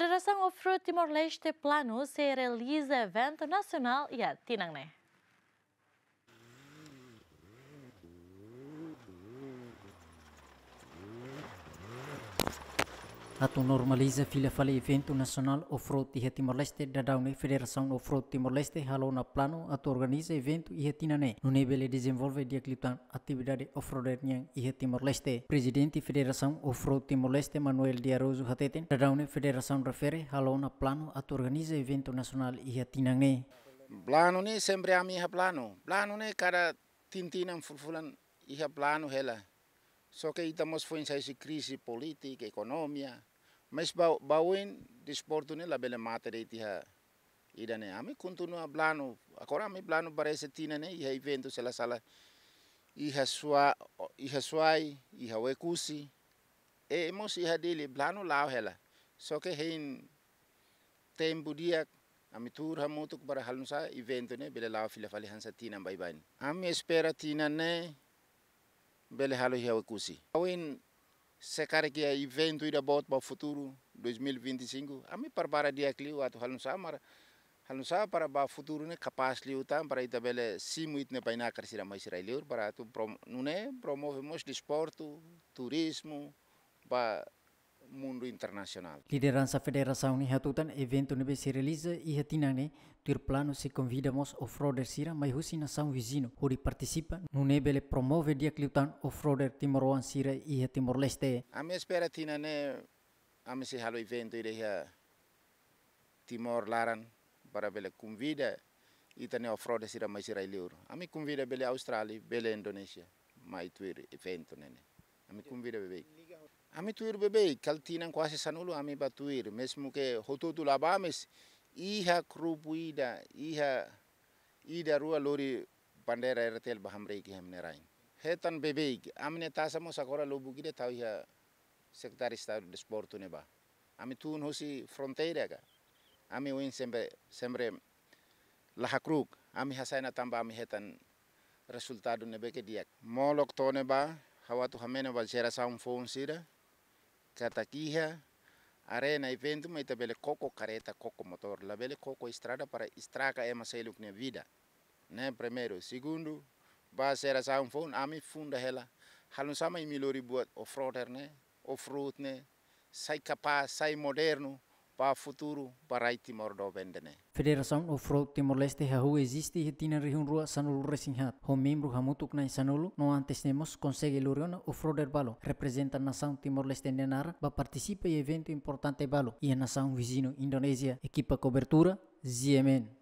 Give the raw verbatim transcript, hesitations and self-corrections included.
Federasaun Off-Road Timor-Leste planu sei realiza eventu nasionál iha tinan ne'e. Atu normaliza fila fali eventu nasionál off-road iha Timor-Leste, daudaun ne'e Federasaun Off-Road Timor-Leste halo ona planu atu organiza eventu iha tinan ne'e, nune'e bele dezenvolve di'ak liután atividade off-roader nian iha Timor-Leste. Prezidente Federasaun Off-Road Timor-Leste, Manuel de Araújo hateten, daudaun ne'e federasaun refere halo ona planu atu organiza eventu nasionál iha tinan ne'e. Planu ne'e sempre ami iha planu. Planu ne'e kada tinan-tinan, fulan-fulan iha planu hela. Só ke ita mós foin sai husi krize polítika, ekonomia. Mas ba, ba oin desportu ne'e labele mate de'it iha ida-ne'e. Ami kontinua planu. Agora ami planu para esse tinan ne'e iha eventu sela sala iha Sua, iha Suai, iha Oekusi. E mós iha Dili planu la'o hela. Só ke hein tempu di'ak, ami tuur hamutuk para halo nu'usá eventu ne'e bele la'o fila fali hanesan tinan baibain. Ami espera tinan ne'e bele halo iha Oekusi. Ohin se karik iha eventu ida boot ba futuru dois mil e vinte e cinco, ami prepara di'ak liu atu halo nu'usá para, halo nu'usá para ba futuru ne'e kapás liután para ita bele simu ita-nia bainakar sira mai sira liur para atu prom-, nune'e promove mós desportu, turizmu ba mundu internasionál. Lideransa federasaun ne'e hatutan eventu ne'ebé sei realiza iha tinan ne'e, tuir planu sei konvida mós off-roader sira mai husi nasaun viziñu hodi partisipa, nune'e bele promove di'ak liután off-roader timoroan sira iha Timor-Leste. Ami espera tinan ne'e ami sei halo eventu ida iha Timor laran para bele konvida ita-nia off-roader sira mai sira liur. Ami konvida bele Austrália, bele Indonézia, mai tuir eventu ne'e ne'e. Ami konvida beibeik. Ami tuir beibeik, kala tinan kuaze sanulu ami ba tuir, mezmu ke hotu-hotu la ba, mas iha grupu ida, iha ida rua lori bandeira R T L ba hamriik iha ami-nia rain. Hetan beibeik, ami-nia taxa mós agora lubuk ida tau iha Sekretáriu Estadu Desportu ne'ebá. Ami tun husi fronteira ka. Ami ohin sempre, sempre la hakru'uk. Ami hasai ona tanba ami hetan rezultadu ne'ebé ke di'ak. Molok to'o ne'ebá, ha'u atu hameno ba jerasaun foun sira katak iha arena eventu mak ita bele koko kareta, koko motór. Labele koko estrada para estraga ema seluk nia vida. Ne'e primeiru. Segundu, ba jerasaun foun ami funda hela. Halo nu'usá mak imi lori buat off-roader ne'e, off-road ne'e, sai kapás, sai modernu, ba futuru, ba rai Timor doben ida-ne'e. Federasaun Off-Road Timor-Leste hahú eziste iha tinan rihun rua sanulu resin haat, ho membru hamutuk na'in sanulu, no antes ne'e mós konsege lori ona off-roader balu, reprezenta nasaun Timor-Leste nia naran, ba partisipa iha eventu importante balu, iha nasaun viziñu Indonézia. Ekipa kobertura, Z M N.